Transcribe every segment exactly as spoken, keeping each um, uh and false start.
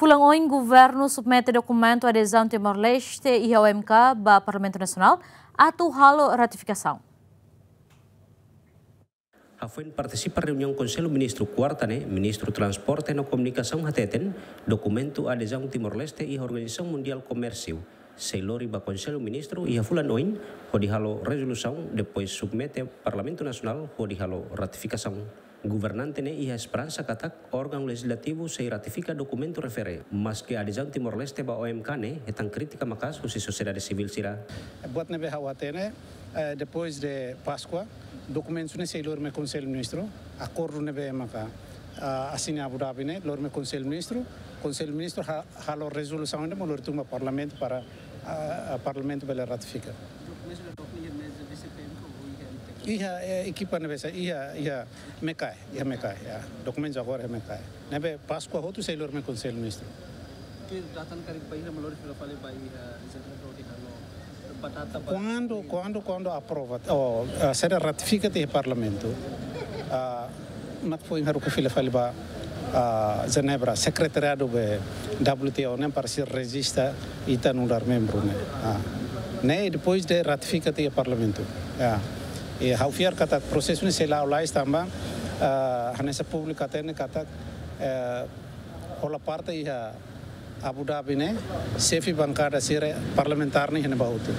Fulan oin, governu submete dokumentu adezaun Timor-Leste iha O M K ba Parlamentu Nasionál atu halo ratifikasaun. Hafoin partisipa reuniaun Konsellu Ministru kuarta ne'e, Ministru Transporte no Komunikasaun hateten, dokumentu adezaun Timor-Leste iha Organizasaun Mundiál Komérsiu sei lori ba Konsellu Ministru iha fulan oin, hodi halo rezolusaun, depois submete Parlamentu Nasionál hodi halo ratifikasaun. Governante ne'e iha esperansa katak órgaun lejizlativu sei ratifika dokumentu refere, maske adezaun Timor-Leste ba O M K ne'e hetan krítika maka'as husi sosiedade sivíl sira. Buat ne'ebé ha'u hatene, eh, depois de Páskua, dokumentu ne'e sei lori mai Konsellu Ministru, akordu ne'ebé maka, ah, asina Abu Dhabi ne'e, lori mai Konsellu Ministru, Konsellu Ministru ha-, halo rezolusaun ne'e mós lori tun ba Parlamentu para, ah, ah, Parlamentu bele ratifika. Iha, eh, ekipa ne'ebé sa, iha, iha Mekai, iha Mekai, ya. Dokumentu agora iha Mekai. Ne'ebé Páskua hotu sei lori mai Konsellu Ministru. Ke datan karik bainhira mak lori fila fali ba iha Jenebra hodi halo ba data ba. Kuandu, kuandu, kuandu aprova, oh, eh, sira ratifika tiha Parlamentu. Ah, mak foin haruka fila fali ba, ah, Jenebra, sekretariadu be W T O ne'e para sira rejista ita nu'udar membru ne'e. Ah. Ne'e depois de ratifika tiha Parlamentu. Ya. I ha'u fiar katak prosesu ne'e sei la'o lalais tanba, ah, hanesan públiku hatene katak, eh, hola parte iha Abu Dhabi ne'e, xefe bankada sira, parlamentár ne'e iha ne'ebá hotu.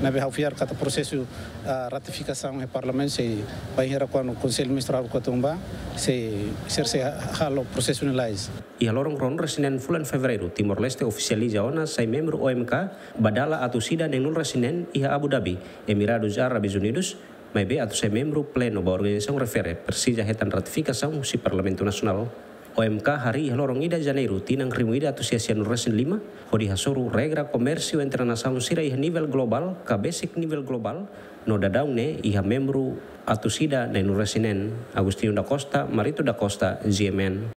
Ne'ebé ha'u fiar katak prosesu, ah, ratifikasaun iha Parlamentu sei, bainhira kuandu Konsellu Ministru haruka tun ba, sei, sira sei halo prosesu ne'e lalais. Iha loron ruanulu-resin-neen fulan Fevereiru, Timor-Leste ofisializa ona sai membru O M K, ba dala atus ida neenulu-resin-neen iha Abu Dhabi, Emirados Árabes Unidos, maibé atu sai membru plenu ba organizasaun refere, presiza hetan ratifikasaun husi Parlamentu Nasionál. O M K harii iha loron ida Janeiru, tinan rihun ida atus sia sianulu-resin-lima, hodi hasoru regra komérsiu entre nasaun sira iha nivel globál, ka besik nivel globál, no daudaun ne'e iha membru atus ida neenulu-resin-neen. Agostinho da Costa, Marito da Costa, G M N.